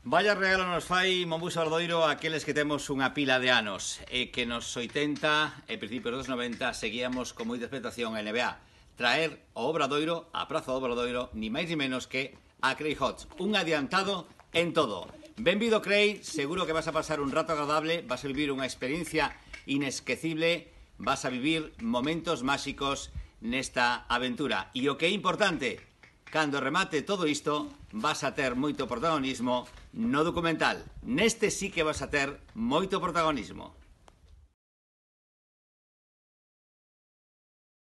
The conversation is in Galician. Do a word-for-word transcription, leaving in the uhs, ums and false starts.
Vaya regalo nos fai Mombuso Obradoiro aqueles que temos unha pila de anos e que nos oitenta e principios dos noventa seguíamos con moita expectación a N B A traer o Obradoiro, a Praza do Obradoiro, ni máis ni menos que a Craig Hodge, un adiantado en todo. Benvido Craig, seguro que vas a pasar un rato agradable, vas a vivir unha experiencia inesquecible, vas a vivir momentos máxicos nesta aventura. E o que é importante, cando remate todo isto, vas a ter moito protagonismo no documental. Neste sí que vas a ter moito protagonismo.